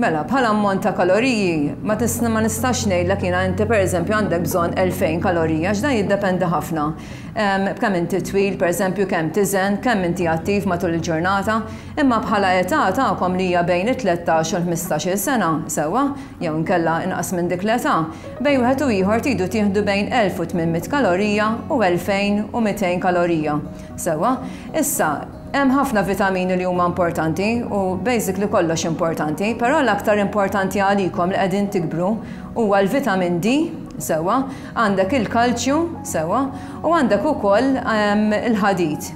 Mela, bħala ammont ta' kaloriji, ma tisna ma nistax ngħidlek jiena inti pereżempju għandek bżonn 2000 kalorija għax dan jiddependi ħafna b'kemm inti twil, pereżempju kemm tiżen, kemm inti attiv matul il-ġurnata, imma bħala età tagħkom li hija bejn it-13 u l-15-il sena, sewwa, jew inkella inqas minn dik l-età, bejn wieħed u ieħor tridu tieħdu bejn 1800 kalorija u 2200 kalorija. Sewwa? Issa, hemm ħafna vitamini li huma importanti u basically kollox importanti, però l-aktar importanti għalikom li qegħdin tikbru huwa l-vitamin D, sewwa, għandek il-kalċju, sewwa, u għandek ukoll ehm, il-ħadid.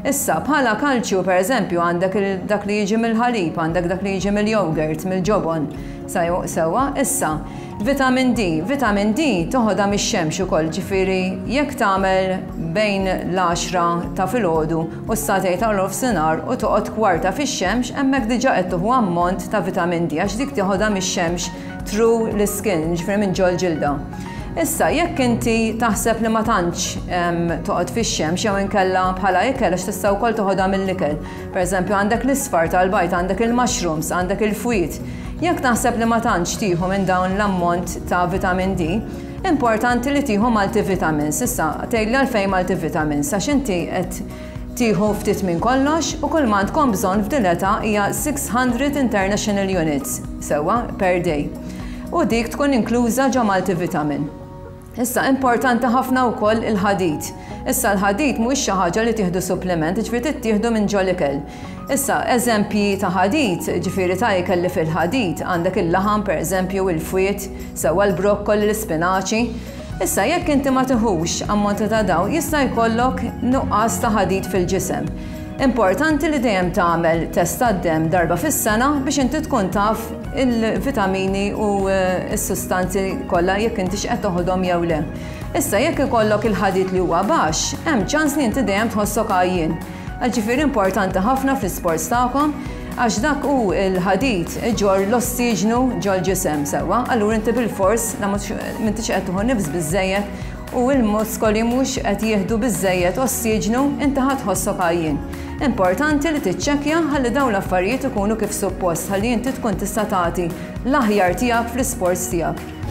Issa, bħala kalċju pereżempju għandek dak li jiġi mill-ħalib, għandek dak li jiġi mill-yogurt, mill-ġobon, sewwa, issa, Vitamin D, Vitamin D toħodha mix-xemx ukoll, ġifieri jekk tagħmel bejn l-għaxra ta' filgħodu u s-sagħtejn ta' nofsinhar u toqgħod kwarta fix-xemx hemmhekk diġà qed tieħu ammont ta' vitamin D għax dik tieħodha mix-xemx through l-iskin, ġifieri minn ġol-ġilda. Issa, jekk inti taħseb li ma tantx toqgħod fix-xemx jew inkella bħala ikel għax tista' wkoll toħodha mill-ikel. Pereżempju għandek l-isfar tal-bajd, għandek il-mushrooms, għandek il-fwied. Jekk taħseb li ma tantx tieħu minn dawn l-ammont ta' vitamin D, importanti li tieħu multivitamins. Issa, tgħidli għalfejn multivitamins? Għax inti qed tieħu ftit minn kollox u kull ma għandkom bżonn f'din l-età hija 600 international units, sewwa, per day. U dik tkun inkluża ġo multivitamin. Issa, importanti ħafna wkoll il-ħadid. Issa l-ħadid mhuwiex xi ħaġa li tieħdu suppliment, jiġifieri tittieħdu minn ġol-ikel. Issa, eżempji ta' ħadid, jiġifieri ta' ikel li fih il-ħadid, għandek il-laħam pereżempju, il-fwied, sewwa l-brokkoli, l-ispinaċi. Issa, jekk inti ma tiħux ammonti ta' dawn, jista' jkollok nuqqas ta' ħadid fil-ġisem. Importanti li dejjem tagħmel test tad-demm darba fis-sena biex inti tkun taf il-vitamini u s-sustanzi kollha jekk intix qed toħodhom jew le. Issa jekk ikollok il-ħadid li huwa baxx, hemm ċans li inti dejjem tħossok għajjien. Ġifieri importanti ħafna fl-isports tagħkom għax dak hu l-ħadid iġorr l-ossiġnu ġol-ġisem sewwa, allura inti bilfors la m'intix qed tieħu nifs biżżejjed u l-muskoli mhux qed jieħdu biżżejjed ossiġnu, inti ħa tħossok għajjien. Importanti li tiċċekkja ħalli dawn l-affarijiet ikunu kif suppost ħalli inti tkun tista' tagħti l-aħjar tiegħek fl-isports tiegħek.